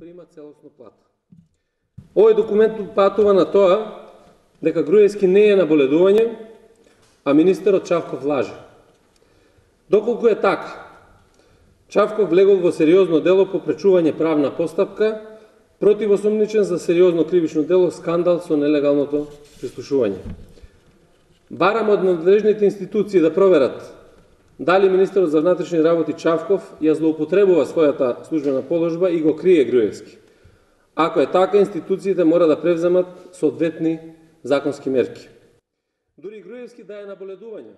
прима целосно плата. Овој документ патува на тоа дека Груевски не е на боледување, а министерот Чавков лаже. Доколку е така, Чавков влегол во сериозно дело по пречување правна постапка, противосомничен за сериозно кривично дело скандал со нелегалното прислушување. Барам од надлежните институции да проверат дали министерот за внатрешни работи Чавков ја злоупотребува својата службена положба и го крие Груевски. Ако е така, институциите мора да превземат соодветни законски мерки. Дури Груевски да е на боледување,